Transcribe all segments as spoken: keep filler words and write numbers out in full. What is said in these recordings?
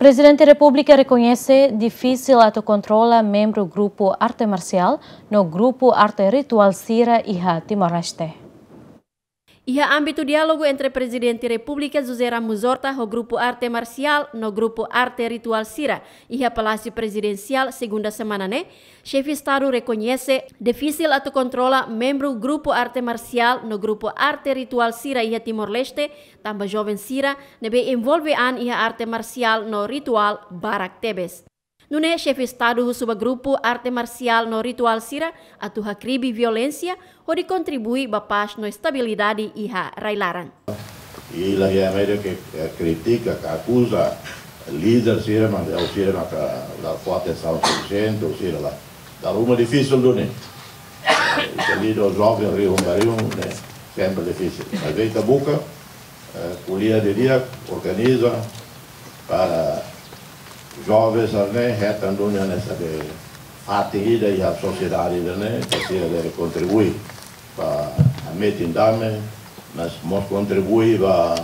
Prezidente Repúblika rekoñese difisil atu kontrola membru grupu arte marsiál no grupu arte rituál sira iha Timor-Leste. Iha ámbitu diálogu entre Prezidente Repúblika José Ramos Horta ho grupu arte marsiál no grupu arte rituál sira iha Palásiu Prezidensiál, segunda semana ne'e, Xefe Estadu rekoñese difisil atu kontrola membru grupu arte marsiál no grupu arte rituál sira iha Timor-Leste, tanba joven sira ne'ebé envolve an iha arte marsiál no rituál barak tebes. Nune'e Xefe Estadu husu ba grupu arte marsiál no rituál sira atu hakribi violénsia hodi kontribui ba pás no estabilidade iha rai-laran. I la iha média ke, eh, kritika, ke akuza líder sira, mas é o sira maka la fó atensaun sufisiente, o sira la. Dala ruma difisil duni. Eh, ita líder joven, riu, riu, ne'e, sempre difisil. Mas ita buka, eh, ko'alia didi'ak, organiza, para joven sira-ne'e hetan duni hanesan fatin ida iha sosiedade ida-ne'e, para sira bele kontribui ba hametin dame, mas mós kontribui ba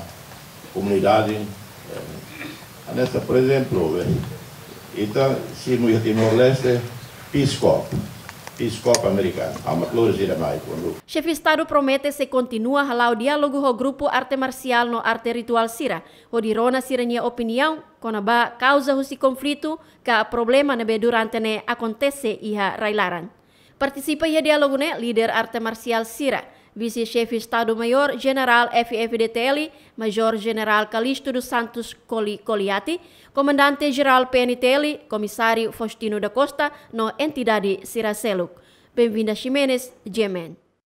komunidade. Eh, hanesan, por ezemplu, eh, ita simu iha Timor-Leste Peace Corps, Peace Corps amerikanu, ha'u mak lori sira mai kuandu. Xefe Estadu promete sei kontinua hala'o diálogu ho grupu arte marsiál no arte rituál sira, hodi rona sira-nia opiniaun kona-ba kauza husi konflitu ka problema ne'ebé durante ne'e akontese iha rai-laran. Partisipa iha diálogu ne'e líder arte marsiál sira, Vise-Xefe Estadu-Maiór Jenerál F-FDTL, Major Jenerál Calixto dos Santos Coli-, Coliati, Komandante Jerál P N T L, Komisáriu Faustino da Costa, no entidade sira seluk. Benvinda Ximenes, G M N.